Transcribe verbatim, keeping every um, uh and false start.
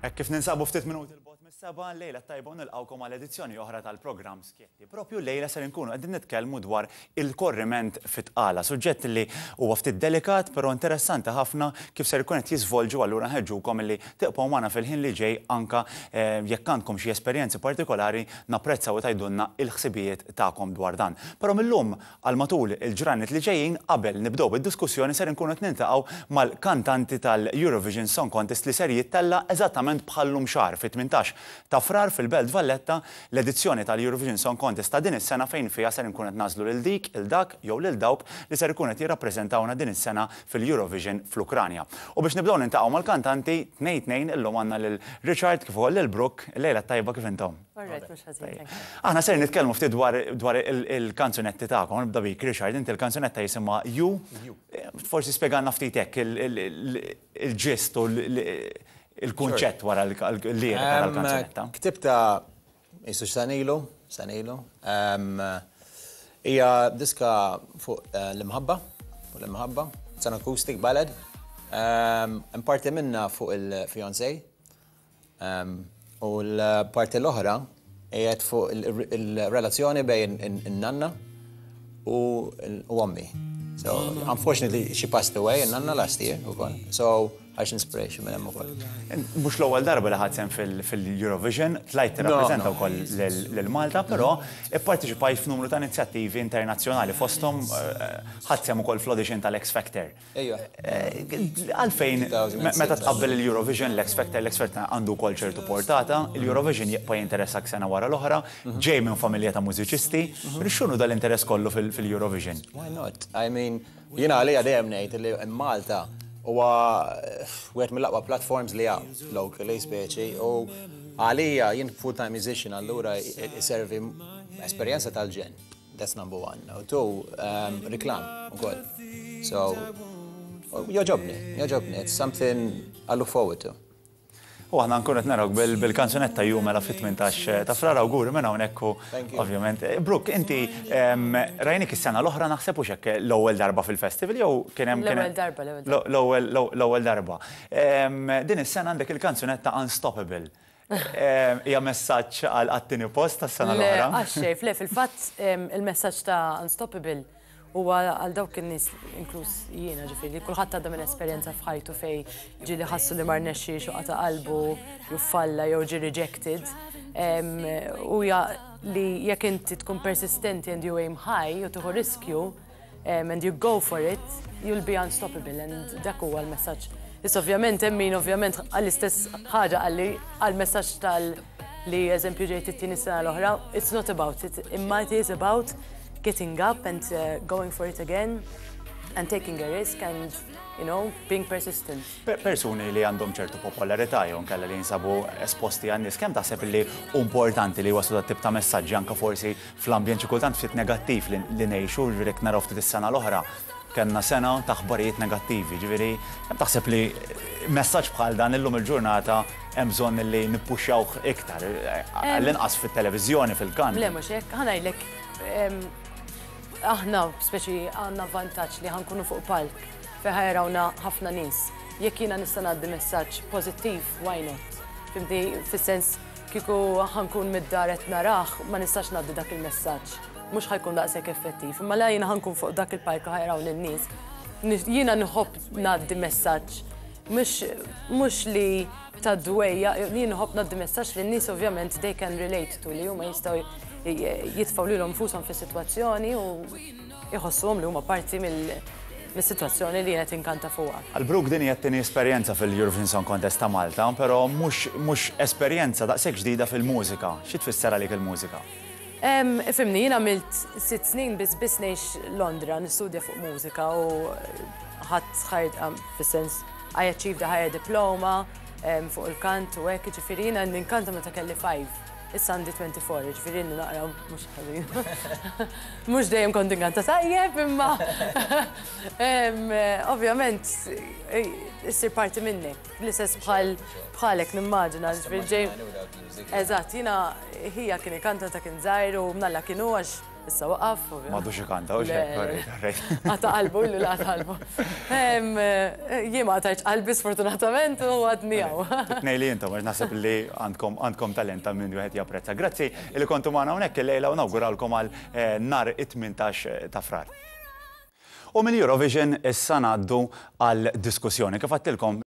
Hekk kif ninsabu ftit minuti 'l bogħod mis-sebgħa, lejla tajba, nilqgħukom għal edizzjoni oħra tal-programm Skjetti. Propju lejla ser nkunu qegħdin nitkellmu dwar il-korriment fit-tqala, suġġett li huwa ftit delikat però interessanti ħafna kif ser ikun qed jiżvolġu. Allura nħeġġukom li tibqgħu magħna fil-ħin li ġej, anka eh, jekk għandkom xi esperjenzi partikolari, napprezzaw tgħidulna il-ħsibijiet tagħkom dwar dan. Però millum għal matul il-ġranet li ġejjin, qabel nibdew bid-diskussjoni, ser nkunu qed niltaqgħu mal-kantanti tal-Eurovision Song Contest li ser jittella eżattament bħal-lum xahar, fit-tmintax ta' Frar fil-Belt Valletta, l-edizzjoni tal-Eurovision Song Contest ta' din is-sena, fejn fiha ser nkun qed nagħżlu lil dik, il dak jew lil dawk li ser ikun qed jirrappreżentawna din is-sena fil-Eurovision fl-Ukranja. U biex nibdew niltaqgħu mal-kantanti tnejn tnejn, illum għandna lil Richard kif ukoll lil Brooke. Lejla tajba, kif intom? Alright, mhux ħażin, thank you. Aħna ser nitkellmu ftit dwar dwar il-kanzunetti tagħkom. Nibda bik, Richard, inti l-kanzunetta jisimha You. Forsi spjegalna ftit hekk il-ġist u il-kunċett wara l-lirika tal-kanzunetta. Ktibtha jisu sena ilu, sena ilu. Hija diska fuq eh, l-imħabba, fuq l-imħabba. It's an acoustic ballad. Parti minna fuq il-fiancé. U l-parti l-oħra qiegħed fuq il-relazzjoni bejn in-nanna u ommi. So, unfortunately, she passed away, in-nanna, last year ukoll. So, għax inspiration minn hemm ukoll. Mhux l-ewwel darba li ħadt sehem fil-Eurovision, tlajt tirrappreżenta wkoll lil Malta, però ipparteċipajt f'numru ta' inizjattivi internazzjonali, fosthom ħadt sehem ukoll fl-audition tal-X Factor. Ejja. Għalfejn, meta tqabbel il-Eurovision, l-X Factor, l-X Factor għandu wkoll ċertu portata, il-Eurovision jibqa' jinteressak sena wara l-oħra, ġej minn familja ta' mużiċisti, x'inhu dal-interess kollu fil-Eurovision? Why not? I mean, jiena għalija dejjem ngħid li Malta huwa wieħed mill-aqwa platforms li hawn locally speċi, u għalija jien full-time musician, allura iservi esperjenza tal-ġenn. That's number one. U two, um, reklam ukoll. So, jogħġobni, jogħġobni. It's something I look forward to. U aħna nkun qed narawk bil-kanzunetta You mela fit-tmintax ta' Frar. Awguri minn hawnhekk u Thank you. ovvjament. Brooke, inti em, rajnik is-sena l-oħra, naħseb, u hekk, l-ewwel darba fil-festival jew kien hemm kien hemm- L-ewwel darba, l-ewwel darba. L-ewwel l-ewwel darba. Em, Din is-sena għandek il-kanzunetta Unstoppable. Em, Hija messaġġ għal għat-tieni post tas-sena Le, l-oħra. għaxxej, le, fil-fatt em, il-messaġġ ta' Unstoppable huwa għal dawk in-nies, inkluż jiena ġifieri, kulħadd għadda minn esperjenza f'ħajtu fej ġieli ħassu li ma rnexxiex u qata' qalbu jew falla jew ġi rejected. Em, U ja li jekk inti tkun persistenti and you aim high u tieħu riskju um, and you go for it, you'll be unstoppable, and dak huwa l-messaġġ. Issa ovvjament hemm min ovvjament għall-istess ħaġa għalli għall-messaġġ tal li eżempju ġejt it-tieni sena l-oħra, it's not about it, imma it is about getting up and uh, going for it again and taking a risk and you know, being persistent. Per- Persuni li għandhom ċertu popolarità jew nkella li jinsabu esposti għan-nies, kemm taħseb li importanti li waslu dat tip ta' messaġġi, anka forsi fl-ambjent xi kultant ftit negattiv li li ngħixu, ġifieri jekk naraw ftit is-sena l-oħra, kellna sena ta' aħbarijiet negattivi, ġifieri kemm taħseb li messaġġ bħal dan illum il-ġurnata hemm bżonn li nippuxxawh iktar, għall-inqas fit-televiżjoni, fil-kant? Le, mhux hekk, ħa ngħidlek, em, aħna speċi għandna vantaġġ li ħa nkunu fuq palk fejn ħa jarawna ħafna nies. Jekk jiena nista' ngħaddi messaġġ pożittiv, why not? Fhimtni, fis-sens kieku ħa nkun mid-dar qed narah, ma nistax ngħaddi dak il-messaġġ. Mhux ħa jkun daqshekk effettiv. Imma la jiena ħa nkun fuq dak il-palk ħa jaraw lin-nies. Jiena nħobb ngħaddi messaġġ mhux mhux li ta' dwejja, jien nħobb ngħaddi messaġġ li n-nies ovvjament they can relate to, li huma jistgħu jitfgħu lilhom infushom fis-sitwazzjoni u jħossuhom li huma parti mill- mis-sitwazzjoni li qed inkanta fuqha. Għal Brooke din hija t-tieni esperjenza fil-Eurovision Song Contest ta' Malta, però mhux mhux esperjenza daqshekk ġdida fil-mużika. Xi tfisser għalik il-mużika? Em, Ifhimni, jien għamilt sitt snin biss biss ngħix Londra, nistudja fuq mużika u ħadt ħajt, fis-sens I achieved a higher diploma em, fuq il-kant u hekk, ġifieri jiena ninkanta meta kelli five. Issa għandi twenty-four, ġifieri naqra mhux ħażin. Mhux dejjem kont inkanta tajjeb, imma em, ovvjament issir parti minnek. L-istess bħal bħalek nimmaġina, ġifieri ġej. Eżatt, jiena ħija kien ikanta ta' kien żgħir u mnalla kienu għax Issa waqaf. M'għadux ikanta, u xek. Qata' qalbu, illu qata' qalbu. Jien ma qatajtx qalbi, sfortunatament, u għadni hawn. Tnejn li intom, għax naħseb li għandkom għandkom talent ta' min wieħed japprezza. Grazzi li kontu magħna hawnhekk illejla u nawguralkom għal eh, nhar it-tmintax ta' Frar. U mill-Eurovision issa ngħaddu għal diskussjoni. Kif għedtilkom